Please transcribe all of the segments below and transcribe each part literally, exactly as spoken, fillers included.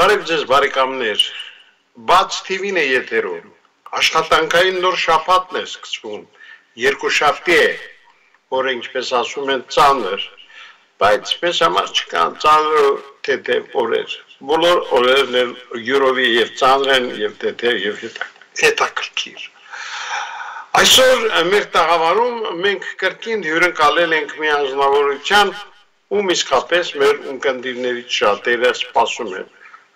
Բարև ձեզ բարեկամներ, բաց թիվին է եթերում, աշխատանքային նոր շաբաթն է սկսվում, երկուշաբթի է, որը ինչպես ասում են ծանր, բայց մեզ համար չկան ծանր թեթև օրեր, բոլոր օրերն էլ յուրովի եւ ծանր են եւ թեթև եւ հետաքրքիր։ Այսօր մեր տաղավարում մենք կրկին հյուրընկալել ենք մի անձնավորության, ում իսկապես մեր ունկնդիրներից շատերը սպասում են։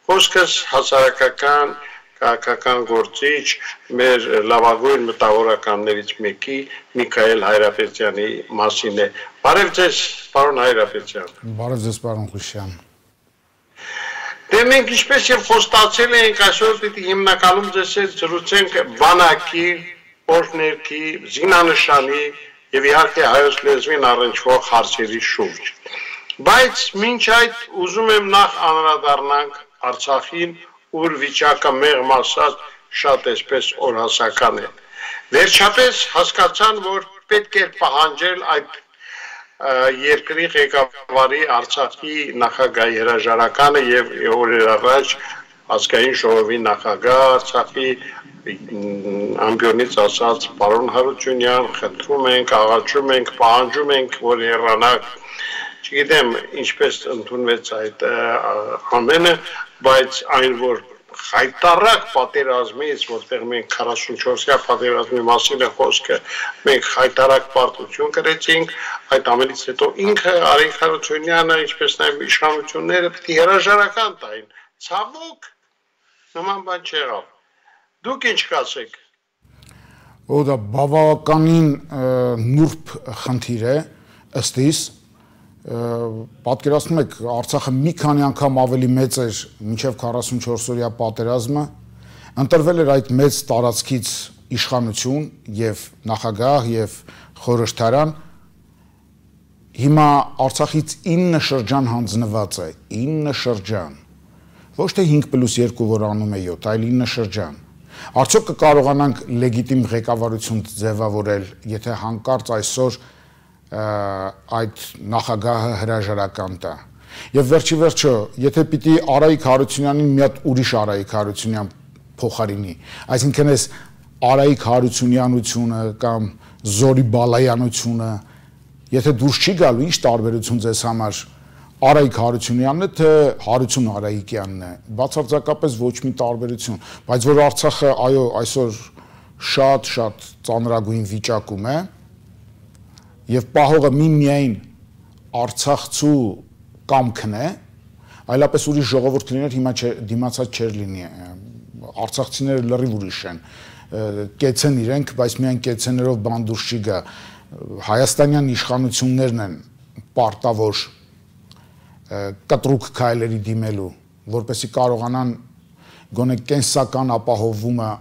Խոսքս հասարակական, քաղաքական գործիչ, մեր լավագույն մտավորականներից մեկի Միքայել Հայրապետյանի մասին է։ Բարև ձեզ, պարոն Հայրապետյան։ Բարև ձեզ, պարոն Խուշյան։ Դե մենք ինչպես եւ խոստացել ենք, այսօր պիտի հիմնականում ձեզ հետ զրուցենք բանակի, օրհներքի, զինանշանի եւ իհարկե հայոց լեզվին առնչվող հարցերի շուրջ։ Բայց մինչ այդ ուզում եմ նախ անդրադառնանք Արցախին, ուր վիճակը մեղմ ասած շատ էսպես օրհասական է։ Վերջապես հասկացան, որ պետք է պահանջել այդ երկրի ղեկավարի Արցախի նախագահի հրաժարականը եւ օրեր առաջ ազգային ժողովի նախագահ Արցախի ամբիոնից ասած պարոն Հարությունյան, խնդրում ենք, աղաչում ենք, պահանջում ենք, որ հեռանաք։ Չգիտեմ ինչպես ընդունվեց այդ ամենը, բայց այն որ խայտարակ պատերազմից, որտեղ մենք քառասունչորսյա պատերազմի մասին է խոսքը, մենք խայտարակ պարտություն կրեցինք, այդ ամենից հետո ինքը Արեգ Հարությունյանը, ինչպես նաև իշխանությունները պիտի հրաժարական տային։ Ցավոք, նման բան չեղավ։ Դուք ինչ կասեք։ Ու դա բավականին նուրբ խնդիր է, ըստ իս պատկերացնում եք Արցախը մի քանի անգամ ավելի մեծ էր մինչև քառասունչորսօրյա պատերազմը, ընտրվել էր այդ մեծ տարածքից իշխանություն եւ նախագահ եւ խորհրդարան, հիմա Արցախից ինը շրջան հանձնված է, ինը շրջան, ոչ թե հինգ պլյուս երկու, որ անում է յոթ, այլ ինը շրջան։ Արդյոք կկարողանանք լեգիտիմ ղեկավարություն ձևավորել, եթե հանկարծ այսօր այդ նախագահը հրաժարական տա։ Եվ վերջի վերջո, եթե պիտի Արայիկ Հարությունյանին մի հատ ուրիշ Արայիկ Հարությունյան փոխարինի, այսինքն էս Արայիկ Հարությունյանությունը կամ Զորի Բալայանությունը, եթե դուրս չի գալու, ինչ տարբերություն ձեզ համար Արայիկ Հարությունյանն է, թե Հարություն Արայիկյանն է, բացարձակապես ոչ մի տարբերություն, բայց որ Արցախը այո այսօր շատ-շատ ծանրագույն վիճակում է, եւ պահողը միմիայն Արցախցու կամքն է, այլապես ուրիշ ժողովուրդ լիներ հիմա դիմացած չէր լինի, արցախցիները լրիվ ուրիշ են, կեցեն իրենք, բայց միայն կեցեներով բան դուրս չի գա, հայաստանյան իշխանություններն են պարտավոր կտրուկ քայլերի դիմելու, որպեսզի կարողանան գոնե կենսական ապահովումը,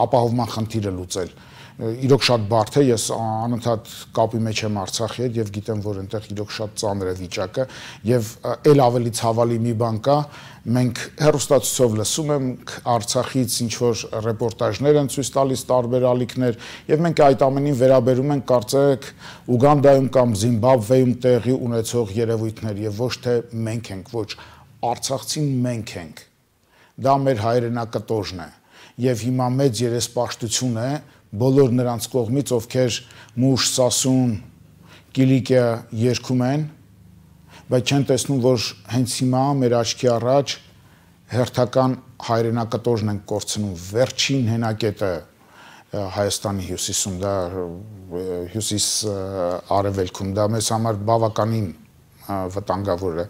ապահովման խնդիրը լուծել։ Իրոք շատ բարդ է, ես անընդհատ կապի մեջ եմ Արցախի հետ եւ գիտեմ, որ այնտեղ իրոք շատ ծանր է վիճակը եւ ել ավելի ցավալի մի բան կա, մենք հեռուստացույցով լսում ենք Արցախից ինչ որ ռեպորտաժներ են ցույց տալիս տարբեր ալիքներ եւ մենք այդ ամենին վերաբերում ենք կարծեք Ուգանդայում կամ Զիմբաբվեում տեղի ունեցող երևույթներ եւ ոչ թե մենք ենք, ոչ Արցախցին մենք ենք։ Դա մեր հայրենակտոժն է եւ հիմա մեծ երեսպաշտություն է բոլոր նրանց կողմից, ովքեր մուշ, սասուն, կիլիկիա երգում են, բայց չեն տեսնում, որ հենց հիմա մեր աչքի առաջ հերթական հայրենակտոժն են կորցնում, վերջին հենակետը Հայաստանի հյուսիսում, դա հյուսիս արևելքում, դա մեզ համար բավականին վտանգավոր է,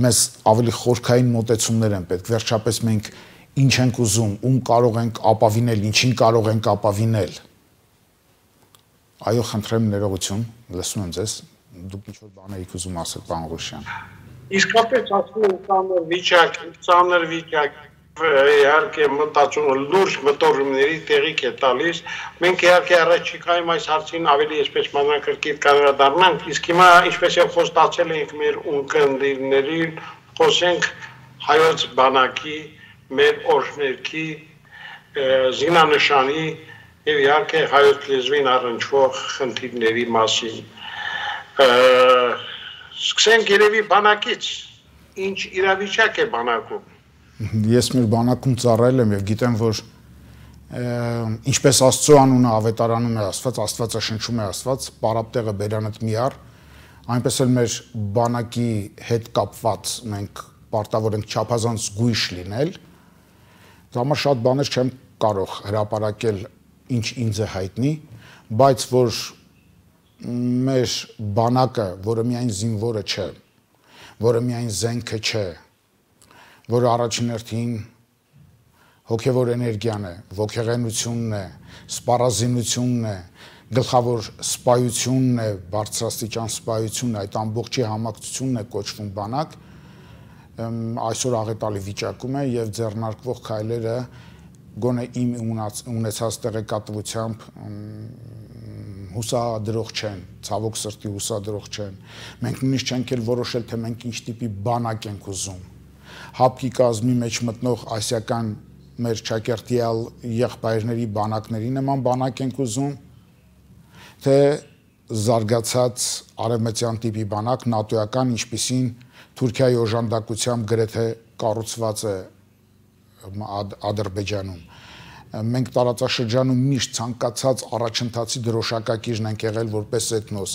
մեզ ավելի խորքային մոտեցումներ են պետք, վերջապես մենք ինչ ենք ուզում, ում կարող ենք ապավինել, ինչին կարող ենք ապավինել։ Այո, խնդրեմ ներողություն, լսում եմ ձեզ, դուք ինչ-որ բան եք ուզում ասել, պարոն Ղուշյան։ Իսկապես ասում եմ ծանր վիճակ, ծանր վիճակ, իհարկե մտածումը լուրջ մտորումների տեղիք է տալիս։ Մենք իհարկե առաջիկայում այս հարցին ավելի այսպես մանրակրկիտ կանդրադառնանք, իսկ հիմա ինչպես եւ խոստացել ենք մեր ունկնդիրներին, խոսենք հայոց բանակի մեր օրհներքի, զինանշանի եւ իհարկե հայոց լեզվին առնչվող խնդիրների մասին։ Սկսենք երևի բանակից, ինչ իրավիճակ է բանակում։ Ես մեր բանակում ծառայել եմ եւ գիտեմ, որ ինչպես Աստծո անունը ավետարանում է Աստված, Աստվածը շնչում է Աստված, պարապտեղը բերանդ մի առ, այնպես էլ մեր բանակի հետ կապված մենք պարտավոր ենք չափազանց զգույշ լինել։ Դա համար շատ բաներ չեմ կարող հրապարակել, ինչ ինձ է հայտնի, բայց որ մեր բանակը, որը միայն զինվորը չէ, որը միայն զենքը չէ, որը առաջին հերթին հոգևոր էներգիան է, ոգեղենությունն է, սպառազինությունն է, գլխավոր սպայությունն է, բարձրաստիճան սպայությունն է, այդ ամբողջի համակցությունն է կոչվում բանակ, այսօր աղետալի վիճակում է եւ ձեռնարկվող քայլերը գոնե իմ ունեցած տեղեկատվությամբ հուսադրող չեն, ցավոք սրտի հուսադրող չեն։ Մենք նույնիսկ չենք էլ որոշել, թե մենք ինչ տիպի բանակ ենք ուզում։ Հապկի կազմի մեջ մտնող ասիական մեր ճակերտիալ եղբայրների բանակների նման բանակ ենք ուզում, թե զարգացած արևմտյան տիպի բանակ, նատոյական, ինչպիսին Թուրքիայի օժանդակությամբ գրեթե կառուցված է Ադրբեջանում։ Մենք տարածաշրջանում միշտ ցանկացած առաջընթացի դրոշակակիրն ենք եղել որպես էթնոս,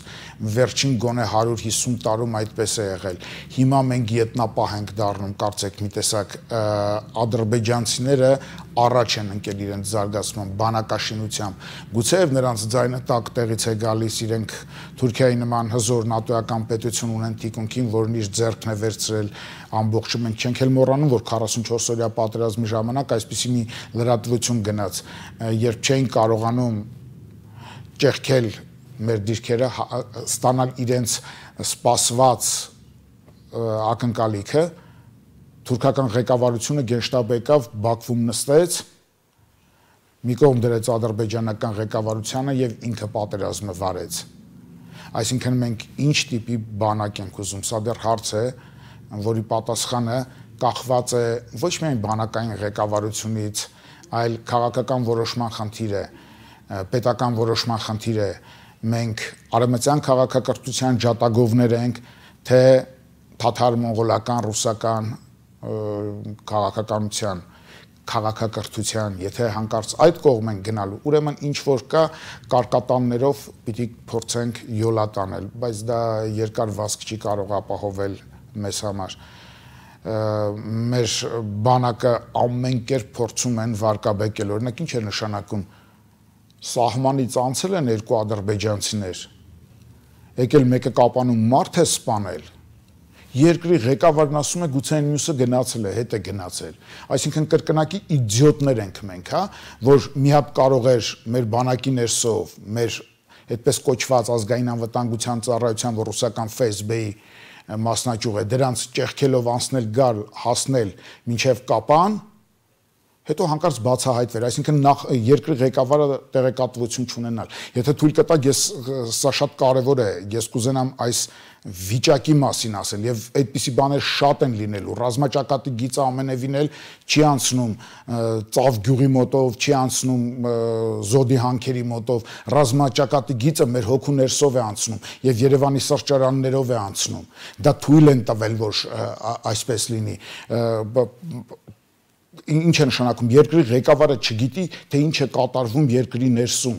վերջին գոնե հարյուր հիսուն տարում այդպես է եղել։ Հիմա մենք ետնապահ ենք դառնում, կարծեք մի տեսակ ադրբեջանցիները առաջ են ընկել իրենց զարգացման բանակաշինությամբ, գուցեև նրանց ձայնը տակ տեղից է գալիս, իրենք Թուրքիայի նման հզոր նատոյական պետություն ունեն թիկունքին, որն իր ձեռքն է վերցրել ամբողջը, մենք չենք էլ մոռանում, որ քառասունչորս օրյա պատերազմի ժամանակ այսպիսի մի լրատվություն գնաց, երբ չէին կարողանում ճեղքել մեր դիրքերը, ստանալ իրենց սպասված ակնկալիքը, թուրքական ղեկավարությունը գենշտաբը եկավ, Բաքվում նստեց, մի կողմ դրեց ադրբեջանական ղեկավարությանը եւ ինքը պատերազմը վարեց։ Այսինքն մենք ինչ տիպի բանակ ենք ուզում, սա դեռ հարց է, որի պատասխանը կախված է ոչ միայն բանակային ղեկավարությունից, այլ քաղաքական որոշման խնդիր է, պետական որոշման խնդիր է։ Մենք արևմտյան քաղաքակրթության ջատագովներ ենք, թե թաթար-մոնղոլական, ռուսական քաղաքականության, քաղաքակրթության, եթե հանկարծ այդ կողմ են գնալու, ուրեմն ինչ որ կա կարկատաններով պիտի փորձենք յոլա տանել, բայց դա երկար վազք չի կարող ապահովել մեզ համար։ Մեր բանակը ամեն կերպ փորձում են վարկաբեկել, օրինակ ինչ է նշանակում, սահմանից անցել են երկու ադրբեջանցիներ, եկել մեկը կապանում մարդ է սպանել, երկրի ղեկավարն ասում է գուցե այն մյուսը գնացել է, հետ է գնացել։ Այսինքն կրկնակի իդիոտներ ենք մենք, հա, որ մի հատ կարող էր մեր բանակի ներսով, մեր այդպես կոչված ազգային անվտանգության ծառայության, որ ռուսական Ֆ S B-ի մասնաճյուղ է, դրանց ճեղքելով անցնել գալ, հասնել մինչև կապան, հետո հանկարծ բացահայտվեր, այսինքն նախ երկրի ղեկավարը տեղեկատվություն չունենալ։ Եթե թույլ կտակ, ես սա շատ կարևոր է, ես կուզենամ այս վիճակի մասին ասել եւ այդպիսի բաներ շատ են լինելու։ Ռազմաճակատի գիծը ամենևին էլ չի անցնում Ծավ գյուղի մոտով, չի անցնում Զոդի հանքերի մոտով, ռազմաճակատի գիծը մեր հոգու ներսով է անցնում եւ Երևանի սրճարաններով է անցնում։ Դա թույլ են տվել, որ այսպես լինի։ Ինչ է նշանակում, երկրի ղեկավարը չգիտի, թե ինչ է կատարվում երկրի ներսում։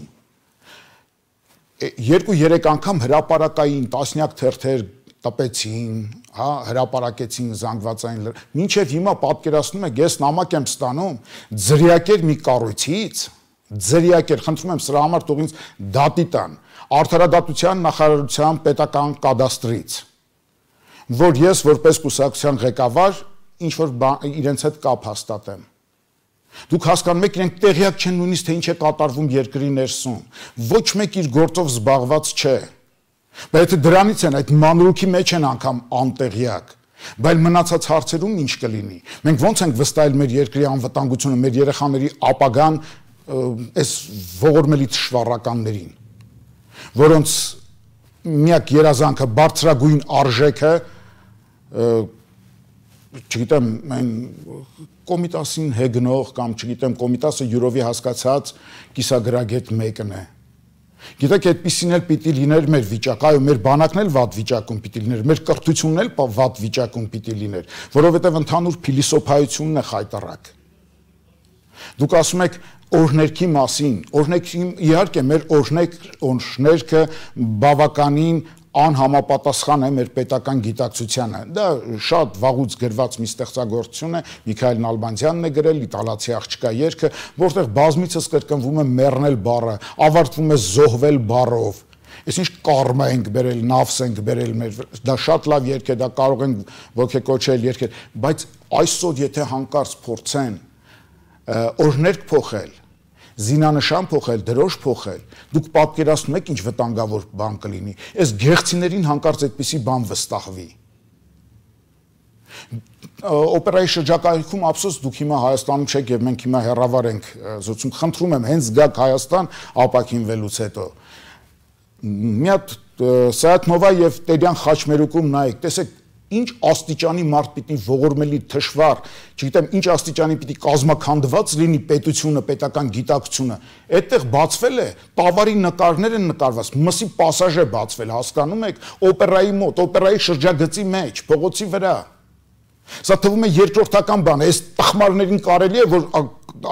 Երկու-երեք անգամ հրապարակային տասնյակ թերթեր տպեցին, հա, հրապարակեցին զանգվածային, մինչև հիմա պատկերացնում եք, ես նամակ եմ ստանում ձրիակեր մի կառույցից, ձրիակեր, խնդրում եմ սրա համար թող ինձ դատի տան, Արդարադատության նախարարության պետական կադաստրից, որ ես որպես կուսակցության ղեկավար ինչ որ իրենց հետ կապ հաստատեմ։ Դուք հասկանում եք, իրենք տեղյակ չեն նույնիսկ թե ինչ է կատարվում երկրի ներսում։ Ոչ մեկ իր գործով զբաղված չէ։ Բայց եթե դրանից են, այդ մանրուքի մեջ են անգամ անտեղյակ։ Բայց մնացած հարցերում ինչ կլինի։ Մենք ո՞նց ենք վստահել մեր երկրի անվտանգությունը, մեր երեխաների ապագան այս ողորմելի թշվառականներին, որոնց միակ երազանքը բարձրագույն արժեքը չգիտեմ, այն Կոմիտասին հեգնող կամ չգիտեմ Կոմիտասը յուրովի հասկացած կիսագրագետ մեկն է։ Գիտեք, այդպիսին էլ պիտի լիներ մեր վիճակը, այո, մեր բանակն էլ վատ վիճակում պիտի լիներ, մեր կրթությունն էլ վատ վիճակում պիտի լիներ, որովհետև ընդհանուր փիլիսոփայությունն է խայտառակ։ Դուք ասում եք օրհներքի մասին, օրհներքի իհարկե մեր օրհնեք օրհներքը բավականին անհամապատասխան է մեր պետական գիտակցությանը։ Դա շատ վաղուց գրված մի ստեղծագործություն է, Միքայել Նալբանդյանն է գրել «Իտալացի աղջկա երգը», որտեղ բազմիցս կրկնվում է մեռնել բառը, ավարտվում է զոհվել բառով։ Այսինչ կարմա ենք բերել, նավս ենք բերել մեր, դա շատ լավ երգ է, դա կարող են ոգեկոչել երգեր, բայց այսօր եթե հանկարծ փորձեն օրհներք փոխել, զինանշան փոխել, դրոշ փոխել, դուք պատկերացնում եք ինչ վտանգավոր բան կլինի։ Այս գեղցիներին հանկարծ այդպիսի բան վստահվի։ Օպերայի շրջակայքում ափսոս դուք հիմա Հայաստանում չեք եւ մենք հիմա հեռավար ենք զրուցում, խնդրում եմ հենց գաք Հայաստան ապակինվելուց հետո։ Մի հատ Սայաթ-Նովա եւ Տերյան խաչմերուկում նայեք, տեսեք ինչ աստիճանի մարդ պիտի ողորմելի թշվառ, չգիտեմ ինչ աստիճանի պիտի կազմաքանդված լինի պետությունը, պետական գիտակցությունը, այդտեղ բացվել է, տավարի նկարներ են նկարված, մսի պասաժ է բացվել, հասկանում եք, օպերայի մոտ, օպերայի շրջագծի մեջ, փողոցի վրա։ Սա թվում է երկրորդական բան է, այս տխմարներին կարելի է, որ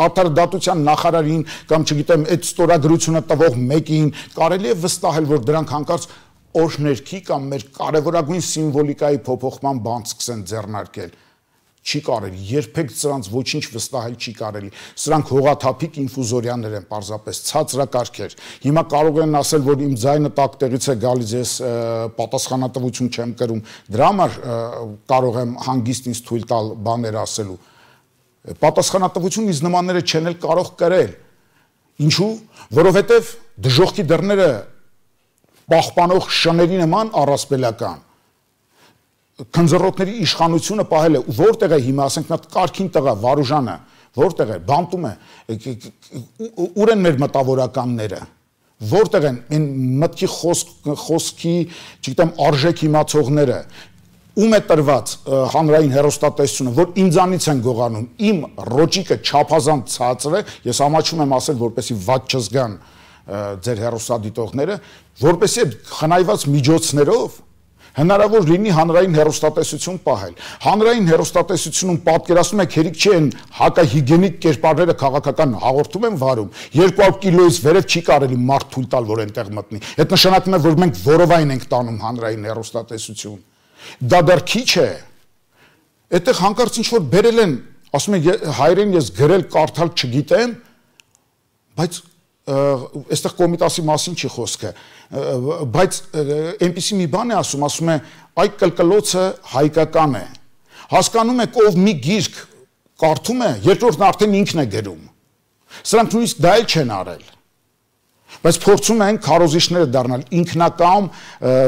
արդարադատության նախարարին կամ չգիտեմ այդ ստորագրությունը տվող մեկին կարելի է վստահել, որ դրանք հանկարծ օրհներքի կամ մեր կարևորագույն սիմվոլիկայի փոփոխման բան սկսեն ձեռնարկել։ Չի կարելի, երբեք սրանց ոչինչ վստահել չի կարելի։ Սրանք հողաթափիկ ինֆուզորյաներ են, պարզապես ցածրակարգեր։ Հիմա կարող են ասել, որ իմ ձայնը տակտեղից է գալիս, ես պատասխանատվություն չեմ կրում։ Դրա համար կարող եմ հանգիստ ինձ թույլ տալ բաներ ասելու։ Պատասխանատվություն ինձ նմանները չեն էլ կարող կրել։ Ինչու՞, որովհետև դժոխքի դռները պահպանող շների նման առասպելական քնձռոտների իշխանությունը պահել է, որտեղ է հիմա, ասենք նա կարգին տղա Վարուժանը, որտեղ է, բանտում է, ուր են մեր մտավորականները, որտեղ են այն մտքի խոսքի, չգիտեմ, արժեք իմացողները, ում է տրված հանրային հեռուստատեսությունը, որ ինձանից են գողանում, իմ ռոճիկը չափազանց ցածր է, ես ամաչում եմ ասել, որպեսզի վատ չզգան ձեր հեռուստադիտողները, որպեսզի խնայված միջոցներով հնարավոր լինի հանրային հեռուստատեսություն պահել։ Հանրային հեռուստատեսությունում պատկերացնում եք հերիք չի են հակահիգենիկ կերպարները քաղաքական հաղորդում են վարում, երկու հարյուր կիլոից վերև չի կարելի մարդ թույլ տալ, որ այնտեղ մտնի։ Այդ նշանակում է, որ մենք որովայն ենք տանում հանրային հեռուստատեսություն։ Դա դեռ քիչ է։ Այդտեղ հանկարծ ինչ որ բերել են, ասում են հայերեն ես գրել կարդալ չգիտեմ, բայց այստեղ Կոմիտասի մասին չի խոսքը, բայց այնպիսի մի բան է ասում, ասում է այդ կլկլոցը հայկական է, հասկանում եք ով մի գիրք կարդում է, երկրորդն արդեն ինքն է գրում, սրանք նույնիսկ դա էլ չեն արել, բայց փորձում են քարոզիչները դառնալ, ինքնակամ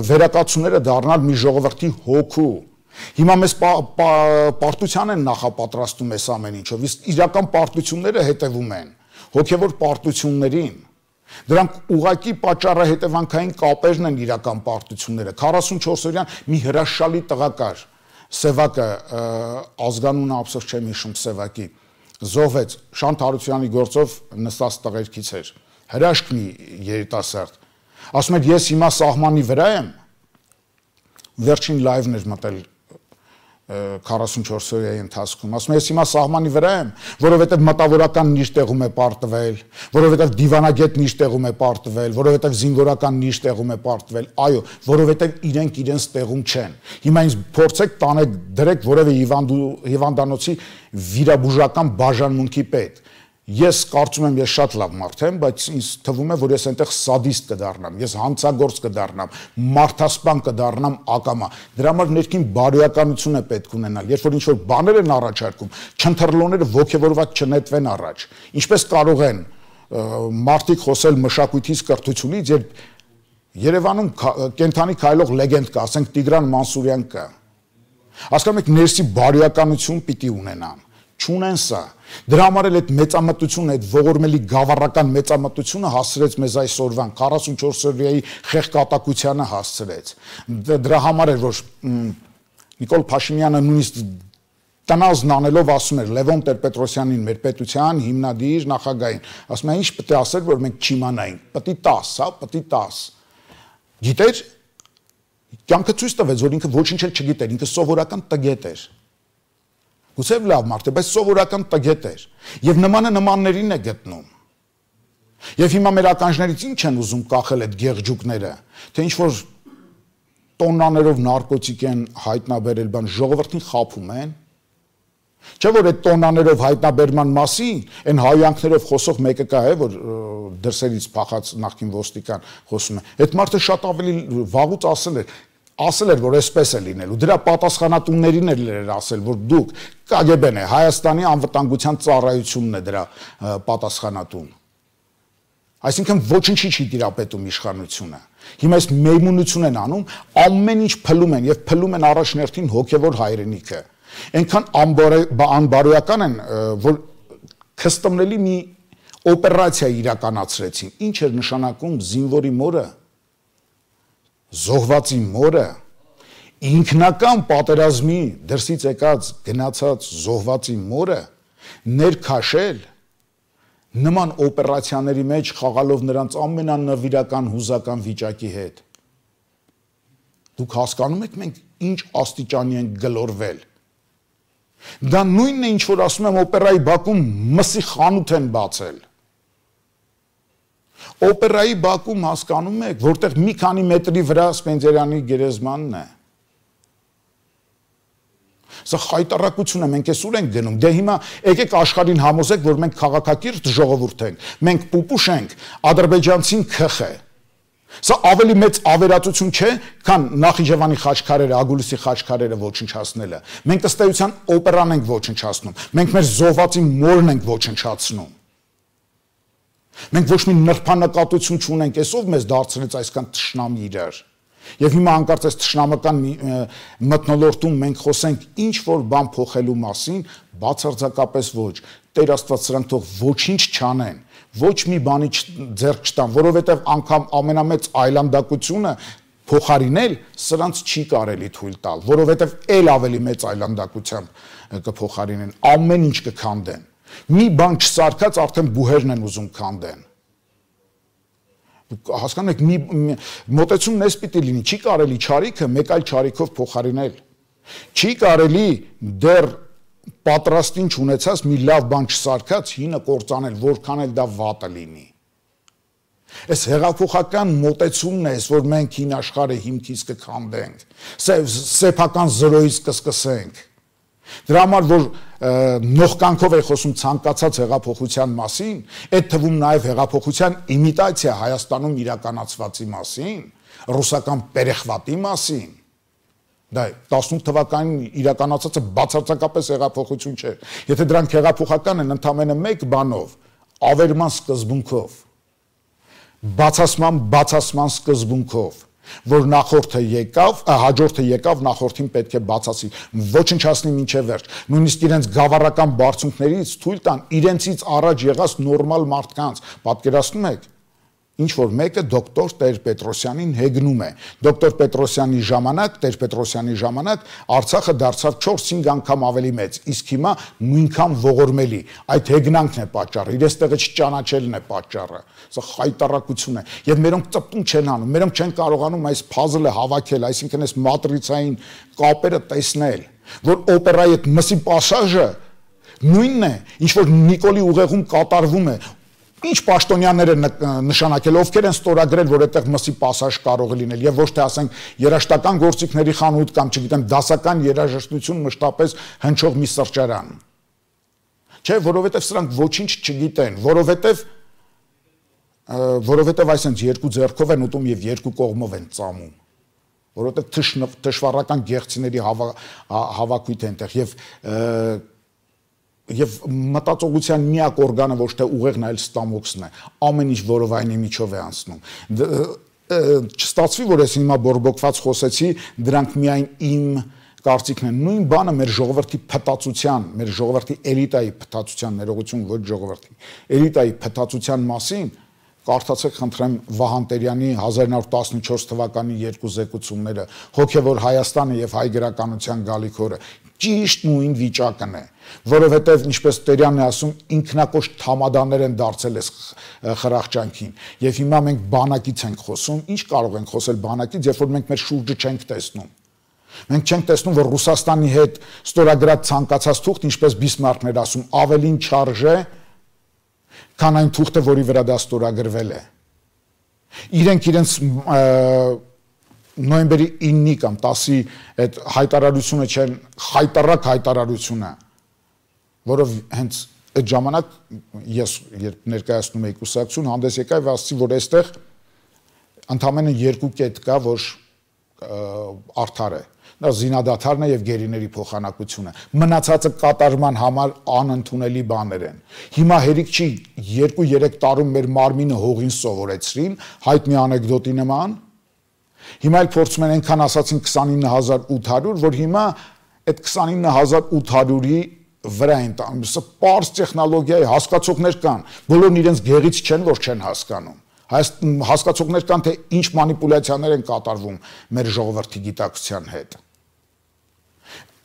վերակացուները դառնալ մի ժողովրդի հոգու, հիմա մեզ պարտության են նախապատրաստում այս ամեն ինչով, իսկ իրական պարտությունները հետևում են հոգևոր պարտություններին, դրանք ուղղակի պատճառահետևանքային կապերն են իրական պարտությունները, քառասունչորս օրյան մի հրաշալի տղա կար, Սևակը, ազգանունը ափսոս չեմ հիշում Սևակի, զոհվեց, Շանթ Հարությունյանի գործով նստած տղերքից էր, հրաշք մի երիտասարդ, ասում էր ես հիմա սահմանի վրա եմ, վերջին լայվն էր մտել քառասունչորս օրյայի ընթացքում, ասում եմ ես հիմա սահմանի վրա եմ, որովհետև մտավորականն իր տեղում է պարտվել, որովհետև դիվանագետն իր տեղում է պարտվել, որովհետև զինվորականն իր տեղում է պարտվել, այո, որովհետև իրենք իրենց տեղում չեն։ Հիմա ինձ փորձեք տանեք դրեք որևէ հիվանդանոցի վիրաբուժական բաժանմունքի պետ։ Ես կարծում եմ ես շատ լավ մարդ եմ, բայց ինձ թվում է, որ ես այնտեղ սադիստ կդառնամ, ես հանցագործ կդառնամ, մարդասպան կդառնամ ակամա։ Դրա համար ներքին բարոյականություն է պետք ունենալ, երբ որ ինչ-որ բաներ են առաջարկում, չընթրլոները ոգևորված չնետվեն առաջ։ Ինչպես կարող են մարդիկ խոսել մշակույթից, կրթությունից, երբ Երևանում կենթանի քայլող լեգենդ կա, ասենք Տիգրան Մանսուրյան կա։ Հասկանում եք, ներսի բարոյականություն պիտի ունենան, չունեն սա։ Դրա համար էլ այդ մեծամտությունը, այդ ողորմելի գավառական մեծամտությունը հասցրեց մեզ այսօրվան, քառասունչորս օրյայի խեղկատակությանը հասցրեց։ Դրա համար էր, որ Նիկոլ Փաշինյանը նույնիսկ տնազն անելով ասում էր Լևոն Տեր-Պետրոսյանին, մեր պետության հիմնադիր նախագահին, ասում է ինչ պետք է ասել, որ մենք չիմանայինք, պետք է տաս, հա, պետք է տաս։ Գիտեր, կյանքը ցույց տվեց, որ ինքը ոչինչ էլ չգիտեր, ինքը սովորական տգետ էր։ Գուցե լավ մարդ է, բայց սովորական տգետ էր։ Եվ նմանը նմաններին է գտնում։ Եվ հիմա մեր ականջներից ինչ են ուզում կախել այդ գեղջուկները, թե ինչ որ տոննաներով նարկոտիկ են հայտնաբերել, բան ժողովրդին խաբում են։ Չէ՞ որ այդ տոննաներով հայտնաբերման մասին այն հայանքներով խոսող մեկը կա է, որ դրսերից փախած նախկին ոստիկան խոսում է։ Այդ մարդը շատ ավելի վաղուց ասել էր, ասել էր, որ այսպես է լինելու։ Դրա պատասխանատուներին էր ասել, որ դուք Կ Գ B-ն է, Հայաստանի անվտանգության ծառայությունն է դրա պատասխանատուն։ Այսինքն ոչինչի չի տիրապետում իշխանությունը։ Հիմա այս մեյմունություն են անում, ամեն ինչ փլում են եւ փլում են առաջնորդին հոգեվոր հայրենիքը։ Այնքան անբարոյական են, որ քստմնելի մի օպերացիա իրականացրեցին։ Ինչ էր նշանակում զինվորի մորը, զոհվածի մորը, ինքնական պատերազմի դրսից եկած գնացած զոհվածի մորը ներքաշել նման օպերացիաների մեջ խաղալով նրանց ամենանվիրական հուզական վիճակի հետ։ Դուք հասկանում եք մենք ինչ աստիճանի ենք գլորվել։ Դա նույնն է ինչ որ ասում եմ օպերայի բակում մսի խանութ են բացել։ Օպերայի բակում հասկանում եք, որտեղ մի քանի մետրի վրա Սպենդիարյանի գերեզմանն է։ Սա խայտարակություն է, մենք այսօր ենք գնում։ Դե հիմա եկեք աշխարհին համոզեք, որ մենք քաղաքակիրթ ժողովուրդ ենք, մենք պուպուշ ենք, ադրբեջանցին քխ է։ Սա ավելի մեծ ավերածություն չէ, քան Նախիջևանի խաչքարերը, Ագուլիսի խաչքարերը ոչնչացնելը։ Մենք ըստ էության օպերան ենք ոչնչացնում, մենք մեր զոհվածի մորն ենք ոչնչացնում։ Մենք ոչ մի նրբանկատություն չունենք, այսով մեզ դարձրեց այսքան թշնամի իրար։ Եվ հիմա անկարծ այս թշնամական մթնոլորտում մենք խոսենք ինչ որ բան փոխելու մասին, բացարձակապես ոչ։ Տեր Աստված սրանք թող ոչինչ չանեն, ոչ մի բանի ձեռք չտան, որովհետև անգամ ամենամեծ այլանդակությունը փոխարինել սրանց չի կարելի թույլ տալ, որովհետև ել ավելի մեծ այլանդակությամբ կփոխարինեն, ամեն ինչ կքանդեն։ Մի բան չսարքած արդեն բուհերն են ուզում քանդեն։ Հասկանում եք, մի մոտեցումն էս պիտի լինի, չի կարելի չարիքը մեկ այլ չարիքով փոխարինել։ Չի կարելի դեռ պատրաստին չունեցած մի լավ բան չսարքած հինը կործանել, որքան էլ դա վատը լինի։ Այս հեղափոխական մոտեցումն է, որ մենք հին աշխարհը հիմքից կքանդենք, սեփական զրոյից կսկսենք։ Դրա համար որ նողկանքով է խոսում ցանկացած հեղափոխության մասին, այդ թվում նաև հեղափոխության իմիտացիա Հայաստանում իրականացվածի մասին, ռուսական պերեխվատի մասին։ Դա տասնութ թվականին իրականացածը բացարձակապես հեղափոխություն չէ։ Եթե դրանք հեղափոխական են ընդամենը մեկ բանով, ավերման սկզբունքով, բացասման բացասման սկզբունքով, որ նախորդը եկավ, հաջորդը եկավ, նախորդին պետք է բացասի, ոչնչացնի մինչև վերջ, նույնիսկ իրենց գավառական բարձունքներից թույլ տան իրենցից առաջ եղած նորմալ մարդկանց, պատկերացնում եք, ինչ որ մեկը դոկտոր Տեր-Պետրոսյանին հեգնում է, դոկտոր Պետրոսյանի ժամանակ, Տեր-Պետրոսյանի ժամանակ Արցախը դարձավ չորս-հինգ անգամ ավելի մեծ, իսկ հիմա նույնքան ողորմելի, այդ հեգնանքն է պատճառը, իրենց տեղը չճանաչելն է պատճառը, սա խայտարակություն է, եւ մերոնք ծպտում չեն անում, մերոնք չեն կարողանում այս փազլը հավաքել, այսինքն այս մատրիցային կապերը տեսնել, որ օպերայի այդ մսի պասաժը նույնն է, ինչ որ Նիկոլի ուղեղում կատարվում է, ինչ պաշտոնյաներ են նշանակել, ովքեր են ստորագրել, որ այդտեղ մսի պասաժ կարող է լինել եւ ոչ թե ասենք երաշտական գործիքների խանութ կամ չգիտեմ դասական երաժշտություն մշտապես հնչող մի սրճարան։ Չէ, որովհետեւ սրանք ոչինչ չգիտեն, որովհետեւ որովհետեւ այսինքն երկու ձեռքով են ուտում եւ երկու կողմով են ծամում։ Որովհետեւ թշվառական գեղցիների հավաքույթ է այնտեղ եւ Եվ մտածողության միակ օրգանը ոչ թե ուղեղն այլ ստամոքսն է, ամեն ինչ որովայնի միջով է անցնում։ Չստացվի, որ ես հիմա բորբոքված խոսեցի, դրանք միայն իմ կարծիքն են։ Նույն բանը մեր ժողովրդի փտածության, մեր ժողովրդի էլիտայի փտածության, ներողություն ոչ ժողովրդի, էլիտայի փտածության մասին կարդացեք խնդրեմ Վահան Տերյանի հազար նոր տասնչորս թվականի երկու զեկուցումները, հոգևոր Հայաստանը եւ հայ գրականության գալիք օրը, Ճիշտ նույն վիճակն է, որովհետև ինչպես Տերյանն է ասում, ինքնակոշ թամադաներ են դարձել այս խրախճանքին, եւ հիմա մենք բանակից ենք խոսում, ինչ կարող ենք խոսել բանակից, երբ որ մենք մեր շուրջը չենք տեսնում։ Մենք չենք տեսնում, որ Ռուսաստանի հետ ստորագրած ցանկացած թուղթ, ինչպես Բիսմարքն էր ասում, ավելին չարժե, քան այն թուղթը, որի վրա դա ստորագրվել է։ Իրենք իրենց նոյեմբերի իննի կամ տասի այդ հայտարարությունը չեն, խայտարակ հայտարարությունը, որով հենց այդ ժամանակ ես երբ ներկայացնում էի կուսակցություն, հանդես եկա եւ ասացի, որ այստեղ ընդամենը երկու կետ կա, որ արդար է։ Դա զինադադարն է եւ գերիների փոխանակությունը։ Մնացածը կատարման համար անընդունելի բաներ են։ Հիմա հերիք չի երկու-երեք տարում մեր մարմինը հողին սովորեցրին, հայտնի անեկդոտի նման։ Հիմա էլ փորձում են այնքան ասացին քսանինը հազար ութ հարյուր, որ հիմա այդ քսանինը հազար ութ հարյուրի վրա են տանում։ Սա պարզ տեխնոլոգիա է, հասկացողներ կան, բոլորն իրենց գեղից չեն, որ չեն հասկանում։ Հասկացողներ կան, թե ինչ մանիպուլյացիաներ են կատարվում մեր ժողովրդի գիտակցության հետ։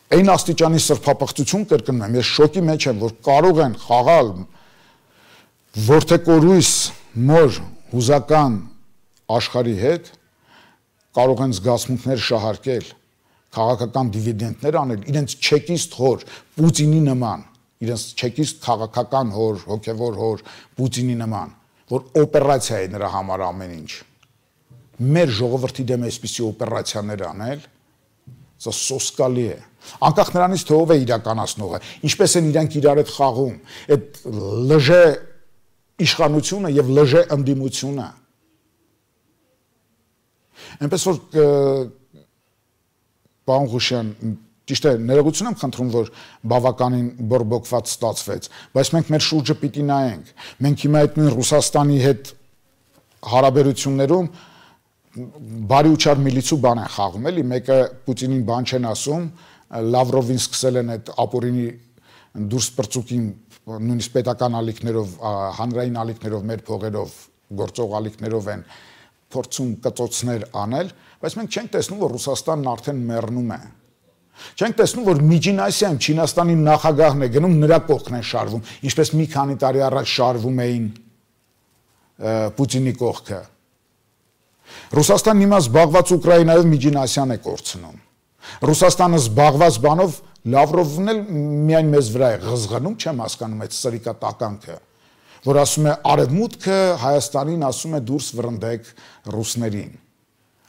Այն աստիճանի սրբապղծություն կրկնում եմ, ես շոկի մեջ եմ, որ կարող են խաղալ որդեկորույս մոր հուզական աշխարհի հետ, կարող են զգացմունքներ շահարկել, քաղաքական դիվիդենտներ անել, իրենց չեկիստ հոր Պուտինի նման, իրենց չեկիստ քաղաքական հոր, հոգևոր հոր Պուտինի նման, որ օպերացիա է նրա համար ամեն ինչ։ Մեր ժողովրդի դեմ այսպիսի օպերացիաներ անել, սա սոսկալի է։ Անկախ նրանից թե ով է իրականացնողը, ինչպես են իրանք իրար հետ խաղում, այդ լժե իշխանությունը եւ լժե ընդդիմությունը։ Այնպես որ պարոն Ղուշյան, ճիշտ է, ներողություն եմ խնդրում, որ բավականին բորբոքված ստացվեց, բայց մենք մեր շուրջը պիտի նայենք։ Մենք հիմա այդ նույն Ռուսաստանի հետ հարաբերություններում բարի ու չար միլիցու բան են խաղում, էլի, մեկը Պուտինին բան չեն ասում, Լավրովին սկսել են այդ ապօրինի դուրս պրծուկին նույնիսկ պետական ալիքներով, հանրային ալիքներով, մեր փողերով, գործող ալիքներով են փորձում կծոցներ անել, բայց մենք չենք տեսնում, որ Ռուսաստանն արդեն մեռնում է։ Չենք տեսնում, որ Միջին Ասիայում Չինաստանի նախագահն է գնում, նրա կողքն են շարվում, ինչպես մի քանի տարի առաջ շարվում էին Պուտինի կողքը։ Ռուսաստանն հիմա զբաղված Ուկրաինայով Միջին Ասիան է կորցնում։ Ռուսաստանը զբաղված բանով Լավրովն էլ միայն մեզ վրա է ղզղնում, չեմ հասկանում այդ սրիկատականքը, որ ասում է արևմուտքը Հայաստանին ասում է դուրս վրընդեք ռուսներին։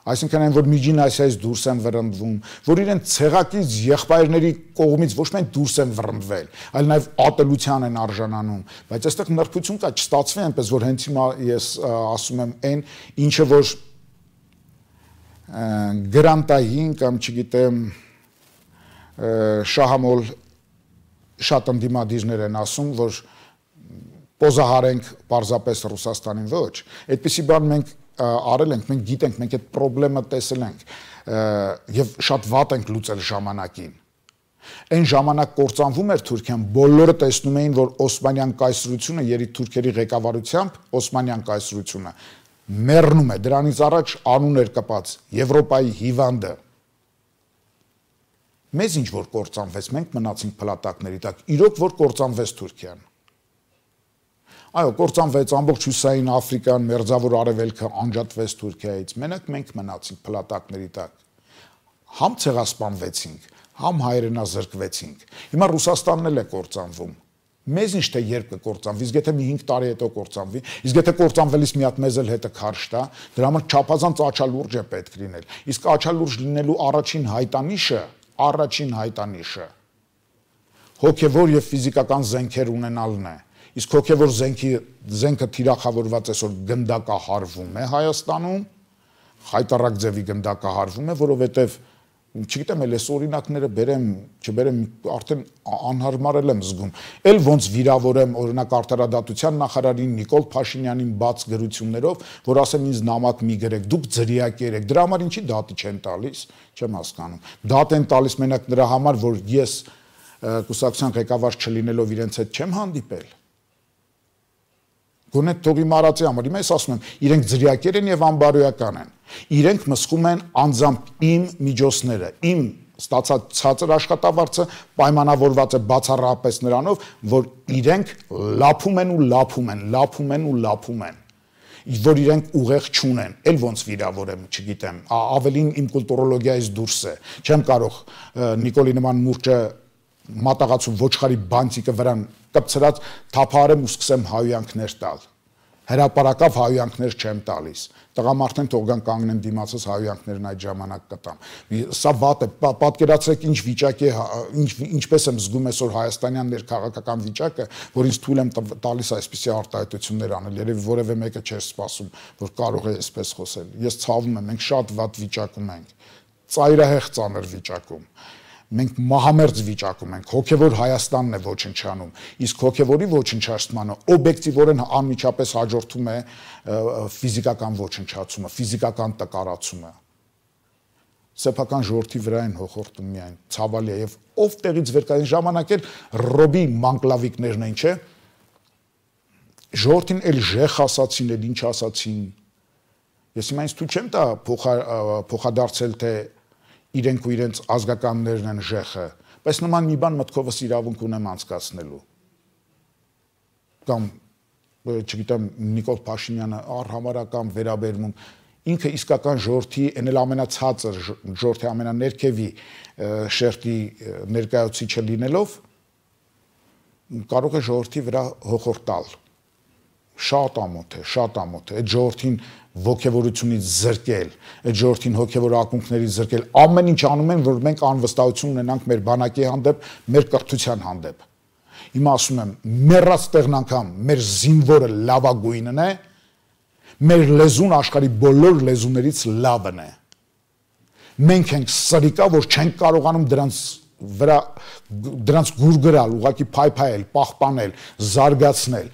Այսինքն այն, որ Միջին Ասիայից դուրս են վրընդվում, որ իրենց ցեղակից եղբայրների կողմից ոչ միայն դուրս են վրընդվել, այլ նաև ատելության են արժանանում, բայց այստեղ նրբություն կա, չստացվի այնպես, որ հենց հիմա ես ասում եմ այն, ինչը որ գրանտային կամ չգիտեմ շահամոլ շատ ընդդիմադիրներ են ասում, որ պոզահարենք պարզապես Ռուսաստանին, ոչ, այդպիսի բան մենք արել ենք, մենք գիտենք, մենք այդ պրոբլեմը տեսել ենք եւ շատ վատ ենք լուծել ժամանակին։ Այն ժամանակ կործանվում էր Թուրքիան, բոլորը տեսնում էին, որ Օսմանյան կայսրությունը երիտի թուրքերի ղեկավարությամբ Օսմանյան կայսրությունը մեռնում է, դրանից առաջ անուն էր կպած Եվրոպայի հիվանդը։ Մեզ ինչ որ կործանվեց, մենք մնացինք փլատակների տակ, իրոք որ կործանվեց Թուրքիան։ Այո, կործանվեց ամբողջ Հյուսային Աֆրիկան, Մերձավոր Արևելքը անջատվեց Թուրքիայից, մենակ մենք մնացինք փլատակների տակ։ Համ ցեղասպանվեցինք, համ հայրենազրկվեցինք։ Հիմա Ռուսաստանն էլ է կործանվում։ Մեզ ինչ թե երբ կկործանվի, իսկ եթե մի հինգ տարի հետո կործանվի, իսկ եթե կործանվելիս մի հատ մեզ էլ հետը քարշ տա, դրա համար չափազանց աչալուրջ է պետք լինել։ Իսկ աչալուրջ լինելու առաջին հայտանիշը, առաջին հայտանիշը հոգևոր եւ ֆիզիկական զենքեր ունենալն է։ Իսկ հոգևոր զենքի զենքը թիրախավորված այսօր գնդակահարվում է Հայաստանում, խայտարակ ձևի գնդակահարվում է, որովհետև չգիտեմ, էլ այս օրինակները բերեմ, չբերեմ, արդեն անհարմար եմ զգում։ Էլ ոնց վիրավորեմ օրինակ արտարադատության նախարարին Նիկոլ Փաշինյանին բաց գրություններով, որ ասեմ ինձ նամակ մի գրեք, դուք ձրիակեր եք, դրա համար ինչի դատի չեն տալիս, չեմ հասկանում։ Դատ են տալիս մենակ նրա համար, որ ես կուսակցության ղեկավար չլինելով իրենց հետ չեմ հանդիպել։ Գոնե թողի մարածի համար, հիմա ես ասում եմ, իրենք ձրիակեր են եւ անբարոյական են։ Իրենք մսխում են անձամբ իմ միջոցները, իմ ստացած ցածր աշխատավարձը պայմանավորված է բացառապես նրանով, որ իրենք լափում են ու լափում են, լափում են ու լափում են, որ իրենք ուղեղ չունեն, էլ ոնց վիրավորեմ, չգիտեմ, ավելին իմ կուլտուրոլոգիայից դուրս է, չեմ կարող Նիկոլի նման մուրճը մատաղացու ոչխարի բանտիկը վրան կպցրած թափահարեմ ու սկսեմ հայյանքներ տալ, հրապարակավ հայյանքներ չեմ տալիս, տղամարդեն թող գան կանգնեն դիմացս հայյանքներն այդ ժամանակ կտամ, սա վատ է, պատկերացրեք ինչ վիճակ է, ինչպես եմ զգում այսօր հայաստանյան ներքաղաքական վիճակը, որ ինձ թույլ եմ տալիս այսպիսի արտահայտություններ անել, երևի որևէ մեկը չէր սպասում, որ կարող է այսպես խոսել, ես ցավում եմ, մենք շատ վատ վիճակում ենք, ծայրահեղ ծանր վիճակում, մենք մահամերձ վիճակում ենք, հոգևոր Հայաստանն է ոչնչանում, իսկ հոգևորի ոչնչացմանը օբյեկտիվորեն անմիջապես հաջորդում է ֆիզիկական ոչնչացումը, ֆիզիկական տկարացումը։ Սեփական ժողովրդի վրա են հոխորտում միայն, ցավալի է, եւ ով տեղից վեր կա, այն ժամանակ էլ Ռոբի մանկլավիկներն են, չէ՞։ Ժողովրդին էլ ժեխ ասացին, էլ ինչ ասացին։ Ես հիմա ինձ թույլ չեմ տա փոխադարձել, թե իրենք ու իրենց ազգականներն են ժեխը, բայց նման մի բան մտքովս իրավունք ունեմ անցկացնելու։ Կամ, չգիտեմ, Նիկոլ Փաշինյանը առհամարական վերաբերվում, ինքը իսկական ժողովրդի, այն էլ ամենացածր ժողովրդի ամենաներքևի շերտի ներկայացուցիչը լինելով, կարող է ժողովրդի վրա հոխորտալ։ Շատ ամոթ է, շատ ամոթ է, այդ ժողովրդին ոգևորությունից զրկել, այդ ժողովրդին հոգևոր ակունքներից զրկել, ամեն ինչ անում են, որ մենք անվստահություն ունենանք մեր բանակի հանդեպ, մեր կրթության հանդեպ։ Հիմա ասում եմ, մեռած տեղն անգամ մեր զինվորը լավագույնն է, մեր լեզուն աշխարհի բոլոր լեզուներից լավն է։ Մենք ենք սրիկա, որ չենք կարողանում դրանց վրա դրանց գուրգրալ, ուղղակի փայփայել, պահպանել, զարգացնել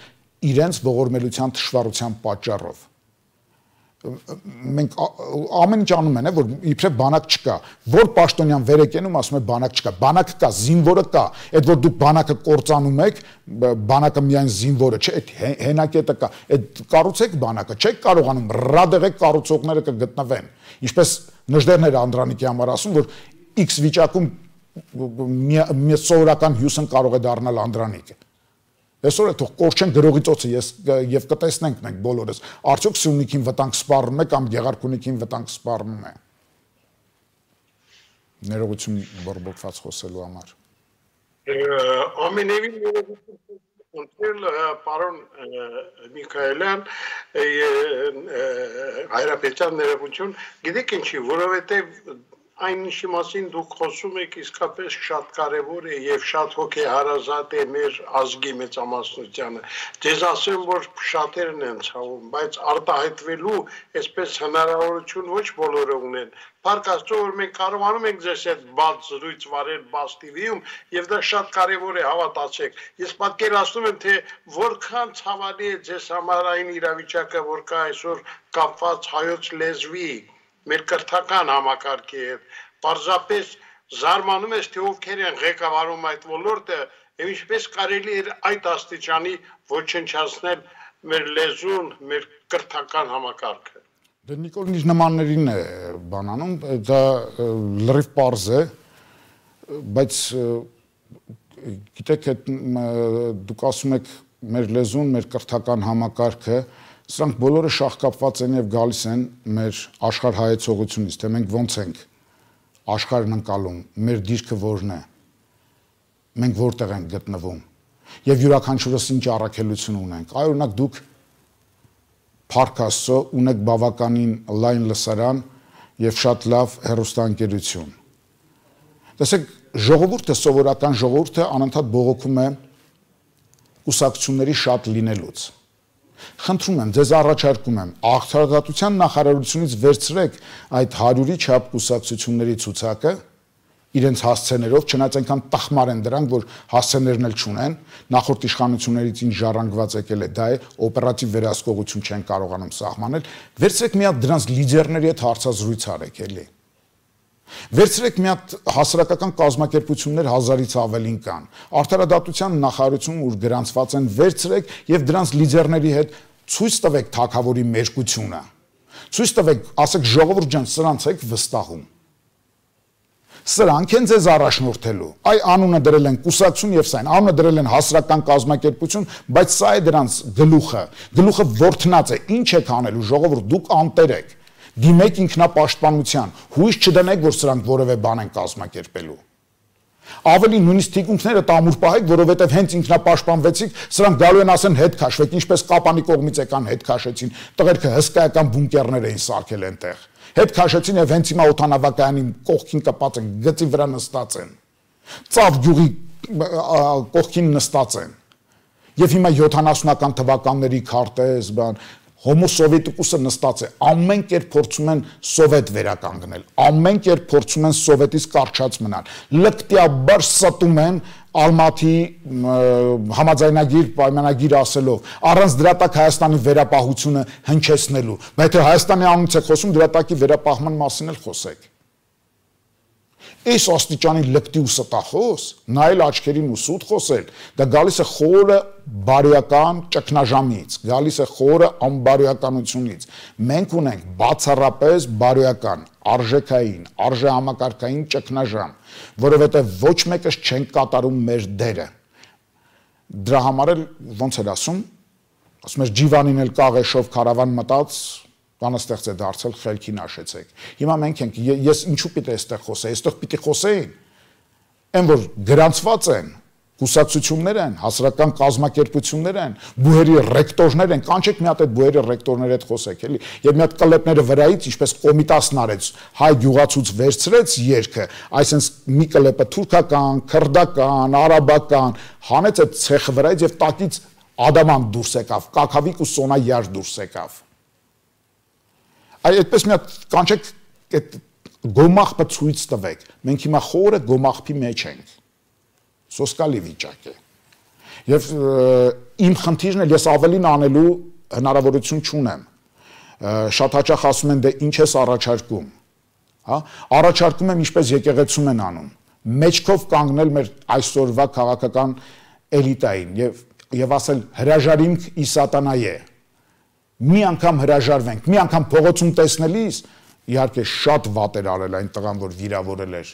իրենց ողորմելության թշվառության պատճառով։ Մենք ամեն ինչ անում են, որ իբրև բանակ չկա, որ պաշտոնյան վեր է կենում, ասում է բանակ չկա, բանակ կա, զինվորը կա, այդ որ դուք բանակը կործանում եք, բանակը միայն զինվորը չէ, այդ հենակետը կա, այդ կառուցեք բանակը, չեք կարողանում, ռադեղեք կառուցողները կգտնվեն, ինչպես Նժդեհներ Անդրանիկի համար ասում, որ X վիճակում մի սովորական հյուսն կարող է դառնալ Անդրանիկը։ Այսօր է թող կորչեն գրողի ծոցը եւ կտեսնենք մենք բոլորս, արդյոք Սյունիքին վտանգ սպառնում է կամ Գեղարքունիքին վտանգ սպառնում է։ Ներողություն բորբոքված խոսելու համար։ Ամենևին ներողություն, պարոն Միքայելյան, Հայրապետյան ներողություն, գիտեք ինչի, որովհետեւ այն ինչի մասին դուք խոսում եք իսկապես շատ կարևոր է եւ շատ հոգեհարազատ է մեր ազգի մեծամասնությանը։ Ձեզ ասեմ, որ շատերն են ցավում, բայց արտահայտվելու այսպես հնարավորություն ոչ բոլորը ունեն։ Փառք Աստծո, որ մենք կարողանում ենք ձեզ այդ բաց զրույց վարել բաց տիվիում եւ դա շատ կարևոր է, հավատացեք։ Ես պատկերացնում եմ, թե որքան ցավալի է ձեզ համար այն իրավիճակը, որ կա այսօր կապված հայոց լեզվի մեր կրթական համակարգի հետ, պարզապես զարմանում ես, թե ովքեր են ղեկավարում այդ ոլորտը, եւ ինչպես կարելի է այդ աստիճանի ոչնչացնել մեր լեզուն, մեր կրթական համակարգը։ Դե Նիկոլն իր նմաններին է բանանում, դա լրիվ պարզ է, բայց գիտեք, դուք ասում եք մեր լեզուն, մեր կրթական համակարգը, սրանք բոլորը շահկապված են եւ գալիս են մեր աշխարհայեցողությունից, թե մենք ոնց ենք աշխարհն ընկալում, մեր դիրքը որն է, մենք որտեղ ենք գտնվում եւ յուրաքանչյուրս ինչ առաքելություն ունենք։ Այ օրինակ դուք Փառք Աստծո ունեք բավականին լայն լսարան եւ շատ լավ հեռուստաընկերություն։ Տեսեք, ժողովուրդը, սովորական ժողովուրդը անընդհատ բողոքում է կուսակցությունների շատ լինելուց։ Խնդրում եմ, ձեզ առաջարկում եմ, Արդարադատության նախարարությունից վերցրեք այդ հարյուրի չափ կուսակցությունների ցուցակը, իրենց հասցեներով, չնայած այնքան տխմար են դրանք, որ հասցեներն էլ չունեն, նախորդ իշխանություններից ինչ ժառանգված եկել է, դա է օպերատիվ վերահսկողություն չեն կարողանում սահմանել, վերցրեք մի հատ դրանց լիդերների հետ հարցազրույց արեք, էլի։ Վերցրեք մի հատ հասարակական կազմակերպություններ հազարից ավելին կան, Արդարադատության նախարարություն, ուր գրանցված են, վերցրեք եւ դրանց լիդերների հետ ցույց տվեք թագավորի մերկությունը, ցույց տվեք, ասեք ժողովուրդ ջան, սրանց եք վստահում։ Սրանք են ձեզ առաջնորդելու։ Այ անունը դրել են կուսակցություն եւ սայն, անունը դրել են հասարակական կազմակերպություն, բայց սա է դրանց գլուխը։ Գլուխը ворթնած է, ինչ եք անելու, ժողովուրդ, դուք անտեր եք։ Դիմեք ինքնապաշտպանության, հույս չդնեք, որ սրանք որևէ բան են կազմակերպելու։ Ավելի նույնիսկ թիկունքները տամուր պահեք, որովհետև հենց ինքնապաշտպանվեցիք, սրանք գալու են ասեն հետ քաշվեք, ինչպես Կապանի կողմից եկան հետ քաշեցին, տղերքը հսկայական բունկերներ էին սարքել այնտեղ։ Հետ քաշեցին եւ հենց հիմա օթանավակայանի կողքին կպած են, գծի վրա նստած են։ Ծավ գյուղի կողքին նստած են։ Եվ հիմա յոթանասունական թվականների քարտեզ, բան, Homo Sovieticus-ը նստած է, ամեն կերպ փորձում են սովետ վերականգնել, ամեն կերպ փորձում են սովետից կարճած մնալ, լկտիաբար ստում են Ալմատի համաձայնագիր, պայմանագիր ասելով, առանց դրա տակ Հայաստանի վերապահությունը հնչեցնելու, բայց թե Հայաստանի անունից եք խոսում, դրա տակի վերապահման մասին էլ խոսեք։ Այս աստիճանի լկտի ու ստախոս, նայել աչքերին ու սուտ խոսել, դա գալիս է խորը բարոյական ճգնաժամից, գալիս է խորը անբարոյականությունից։ Մենք ունենք բացառապես բարոյական, արժեքային, արժեհամակարգային ճգնաժամ, որովհետև ոչ մեկս չենք կատարում մեր դերը։ Դրա համար էլ ոնց էր ասում, ասում էր Ջիվանին էլ կաղեշով քարավան մտած, բանաստեղծ է դարձել, խելքին աշեցեք։ Հիմա մենք ենք, ես ինչու պիտի այստեղ խոսեի, այստեղ պիտի խոսեին, այն որ գրանցված են, կուսակցություններ են, հասարակական կազմակերպություններ են, բուհերի ռեկտորներ են, կանչեք մի հատ այդ բուհերի ռեկտորների հետ խոսեք, էլի, եւ մի հատ կլեպները վրայից, ինչպես Կոմիտասն արեց, հայ գյուղացուց վերցրեց երգը, այսինքն մի կլեպը թուրքական, քրդական, արաբական, հանեց այդ ցեխը վրայից եւ տակից ադամանտ դուրս եկավ, կակավիկ ու սոնա յար դուրս եկավ։ Այ այդպես մի հատ կանչեք այդ գոմախպը ցույց տվեք։ Մենք հիմա խորը գոմախպի մեջ ենք։ Սոսկալի վիճակ է։ Եվ իմ խնդիրն է, ես ավելին անելու հնարավորություն չունեմ։ Շատ հաճախ ասում են դե ինչ ես առաջարկում, հա? Առաջարկում եմ ինչպես եկեղեցում են անում։ Մեջքով կանգնել մեր այսօրվա քաղաքական էլիտային եւ եւ ասել հրաժարիմք ի սատանայե։ Մի անգամ հրաժարվենք, մի անգամ փողոցում տեսնելիս, իհարկե շատ վատեր արել այն տղան, որ վիրավորել էր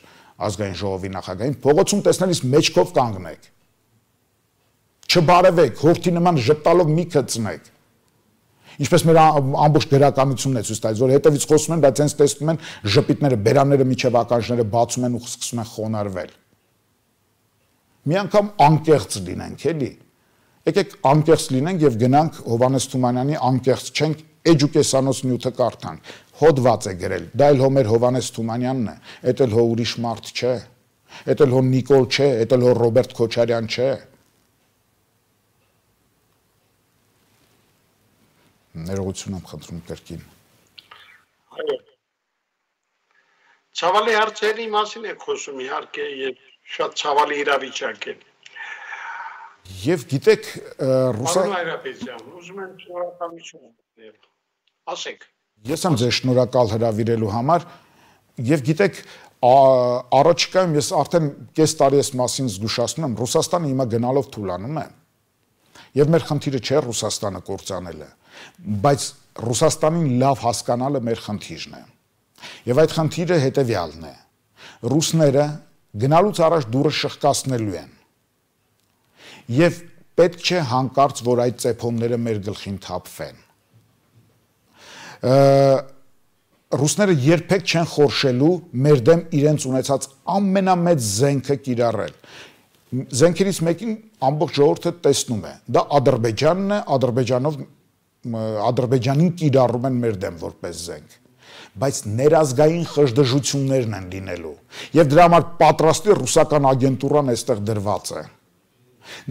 ազգային ժողովի նախագահին, փողոցում տեսնելիս մեջքով կանգնեք։ Չբարևեք, հորթի նման ժպտալով մի գծնեք։ Ինչպես մեր ամբողջ գրականությունն է ցույց տալիս, որ հետևից խոսում են, բայց հենց տեսնում են ժպիտները, բերանները միջև ականջները բացում են ու սկսում են խոնարհվել։ Մի անգամ անկեղծ լինենք, էլի։ Եկեք անկեղծ լինենք եւ գնանք Հովանես Թումանյանի անկեղծ չենք էջուկեսանոց նյութը կարդանք։ Հոդված է գրել, դա էլ հո մեր Հովանես Թումանյանն է, էդ էլ հո ուրիշ մարդ չէ, էդ էլ հո Նիկոլ չէ, էդ էլ հո Ռոբերտ Քոչարյան չէ։ Ներողություն եմ խնդրում կրկին։ Այո։ Ցավալի հարցերի մասին է խոսում իհարկե եւ շատ ցավալի իրավիճակ է։ Եվ գիտեք, ռուսա Պարոն Հայրապետյան, ուզում եմ շնորհակալություն ասել։ Ասեք։ Ես եմ ձեզ շնորհակալ հրավիրելու համար եւ գիտեք, առաջիկայում ես արդեն կես տարի այս մասին զգուշացնում եմ, Ռուսաստանը հիմա գնալով թուլանում է։ Եվ մեր խնդիրը չէ Ռուսաստանը կործանելը, բայց Ռուսաստանին լավ հասկանալը մեր խնդիրն է։ Եվ այդ խնդիրը հետեւյալն է։ Ռուսները գնալուց առաջ դուրը շղկացնելու են։ Եվ պետք չէ հանկարծ, որ այդ ծեփոնները մեր գլխին թափվեն։ Ռուսները երբեք չեն խորշելու մեր դեմ իրենց ունեցած ամենամեծ զենքը կիրառել։ Զենքերից մեկին ամբողջ ժողովուրդը տեսնում է։ Դա Ադրբեջանն է, Ադրբեջանով Ադրբեջանին կիրառում են մեր դեմ որպես զենք։ Բայց ներազգային խժդժություններն են լինելու։ Եվ դրա համար պատրաստի ռուսական ագենտուրան այստեղ դրված է։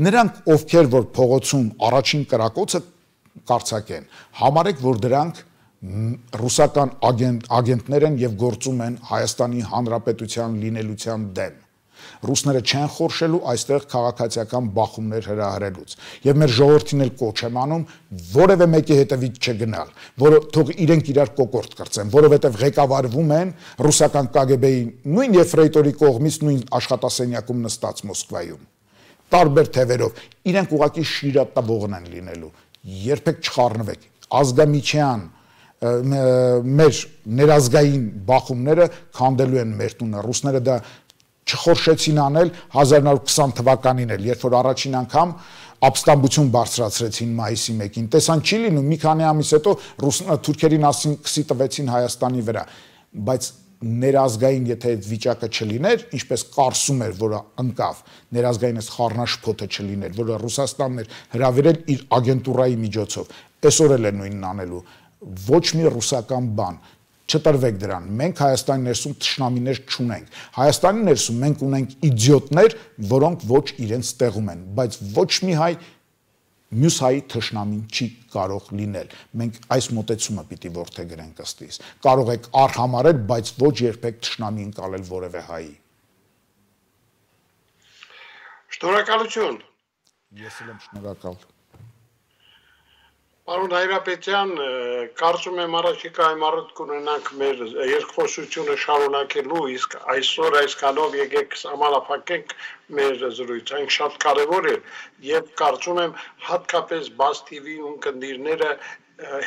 Նրանք, ովքեր որ փողոցում առաջին կրակոցը կարծակեն, համարեք, որ դրանք ռուսական ագենտ, ագենտներ են եւ գործում են Հայաստանի Հանրապետության լինելության դեմ։ Ռուսները չեն խորշելու այստեղ քաղաքացիական բախումներ հրահրելուց։ Եվ մեր ժողովրդին էլ կոչ եմ անում որևէ մեկի հետևից չգնալ, որը թող իրենք իրար կոկորտ կրծեն, որովհետեւ ղեկավարվում են ռուսական կա գե բեի նույն Եֆրեյտորի կողմից նույն աշխատասենյակում նստած Մոսկվայում։ Տարբեր թևերով, իրենք ուղղակի շիրատավորն են լինելու, երբեք չխառնվեք, ազգամիչյան մեր ներազգային բախումները քանդելու են մեր տունը։ Ռուսները դա չխորշեցին անել հազար նոր քսան թվականին էլ, երբ որ առաջին անգամ ապստամբություն բարձրացրեցին մայիսի մեկին։ Տեսան չի լինում, մի քանի ամիս հետո թուրքերին ասին քսի տվեցին Հայաստանի վրա, բայց ներազգային եթե այդ վիճակը չլիներ, ինչպես կարծում էր, որը ընկավ, ներազգային այս խառնաշփոթը չլիներ, որը Ռուսաստանն էր հրավիրել իր ագենտուրայի միջոցով, այսօր էլ է նույնն անելու, ոչ մի ռուսական բան, չտրվեք դրան, մենք Հայաստանի ներսում թշնամիներ չունենք, Հայաստանի ներսում մենք ունենք իդիոտներ, որոնք ոչ իրենց տեղում են, բայց ոչ մի հայ մյուս հայի թշնամին չի կարող լինել, մենք այս մոտեցումը պիտի որդեգրենք ըստ իս, կարող եք արհամարել, բայց ոչ երբեք թշնամի ընկալել որևէ հայի։ Շնորհակալություն։ Ես էլ եմ շնորհակալ։ Պարոն Հայրապետյան, կարծում եմ առաջիկայում առիթ կունենանք մեր երկխոսությունը շարունակելու, իսկ այսօր այսքանով եկեք սահմանափակենք մեր զրույցը, այն շատ կարևոր է, եւ կարծում եմ հատկապես Բաց թի վի ունկնդիրները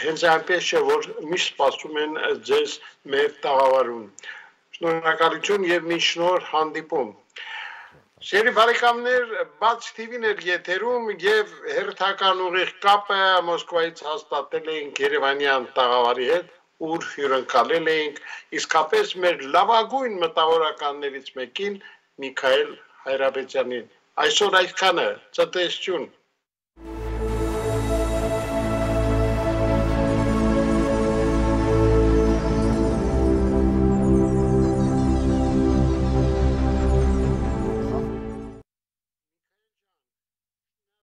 հենց այնպես չէ, որ միշտ սպասում են ձեզ մեր տաղավարում։ Շնորհակալություն եւ մի շնորհ հանդիպում։ Սերի բարեկամներ, Բաց թի վին էր եթերում եւ հերթական ուղիղ կապը Մոսկվայից հաստատել էինք Երևանյան տաղավարի հետ, ուր հյուրընկալել էինք իսկապես մեր լավագույն մտավորականներից մեկին Միքայել Հայրապետյանին։ Այսօր այսքանը, ցտեսություն։